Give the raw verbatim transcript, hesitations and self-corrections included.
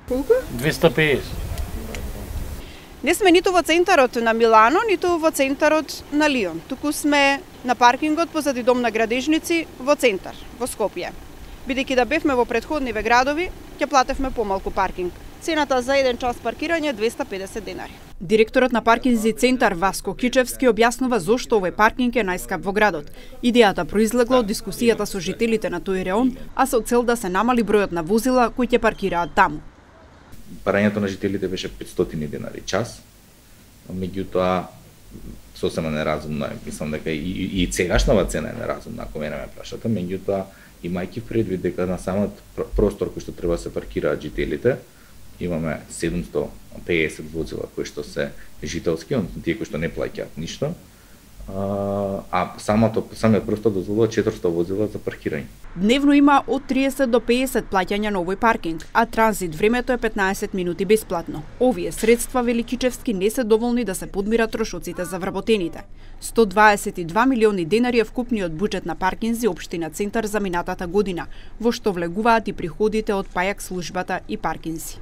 Колку? двесте и педесет. Не сме ниту во центарот на Милано, ниту во центарот на Лион. Туку сме на паркингот позади Дом на градежници во центар, во Скопје. Бидејќи да бевме во претходниве градови, ќе платевме помалку паркинг. Цената за еден час паркирање е двесте и педесет денари. Директорот на паркинзи центар Васко Кичевски објаснува зошто овој паркинг е најскап во градот. Идејата произлегла од дискусијата со жителите на тој реон, а со цел да се намали бројот на возила кои ќе паркираат таму. Парањето на жителите беше петстотини денари час, меѓутоа сосема неразумно е, мислам дека и, и, и сегашнава цена е неразумна, ако мене ме прашате, меѓутоа имајќи предвид дека на самиот простор кој што треба да се паркираат жителите, имаме седумстотини и педесет возила кои што се жителски, односно тие кои што не плаќаат ништо, а самото самиот простор дозволува четиристотини возила за паркирање. Дневно има од триесет до педесет плаќања на овој паркинг, а транзит времето е петнаесет минути бесплатно. Овие средства, вели Кичевски, не се доволни да се подмират трошоците за вработените. сто дваесет и два милиони денари е вкупниот буџет на паркинзи општина Центар за минатата година, во што влегуваат и приходите од пајак службата и паркинзи.